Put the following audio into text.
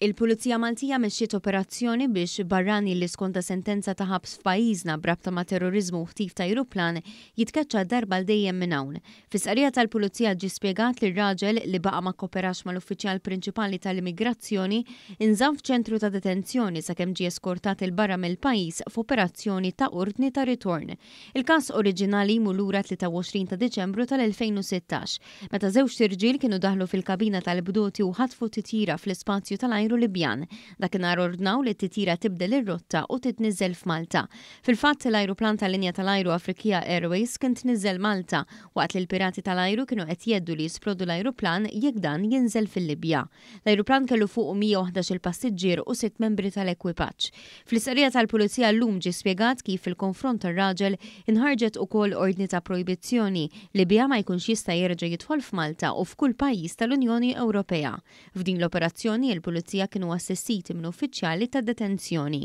Il-Pulizija Maltija mexxiet operazzjoni biex barrani li skonta sentenza ta' ħabs f'pajjiżna b'rabta ma' terroriżmu u ħtif ta' ajruplan jitkeċċa darba għal dejjem minn hawn. Fi stqarrija tal-Pulizija ġie spjegat li r-raġel, li baqa' ma kkoperax mal-uffiċjal prinċipali tal-immigrazzjoni, inżamm f'ċentru ta' detenzjoni sakemm ġie eskortat 'il barra mill-pajjiż f'operazzjoni ta' ordni ta' ritorn. Il-każ oriġinali jmur lura 23 ta' Diċembru tal-2016, meta żewġt irġiel kienu daħlu fil-kabina tal-bdoti u ħatfu titjira fl-ispazju tal-ajru Libjan. Dakinhar ordnaw li t-titjira tibdel ir-rotta u titniżżel f'Malta. Fil-fatt, l-ajruplan tal-linja tal-ajru Afriqiyah Airways kien tniżżel Malta, waqt li l-pirati tal-ajru kienu qed jheddu li jisplodu l-ajruplan jekk dan jinżel fil-Libja. L-ajruplan kellu fuqu 111 il passiġġier u sitt membri tal-ekwipaġġ. Fl-istqarrija tal-Pulizija llum ġie spjegat kif fil-konfront tar-raġel inħarġet ukoll ordni ta' projbizzjoni li biha ma jkunx jista' jerġa' jidħol f'Malta u f'kull pajjiż tal-Unjoni Ewropea. F'din l-operazzjoni il-Pulizija kienu assistiti minn uffiċjali tad-detenzjoni.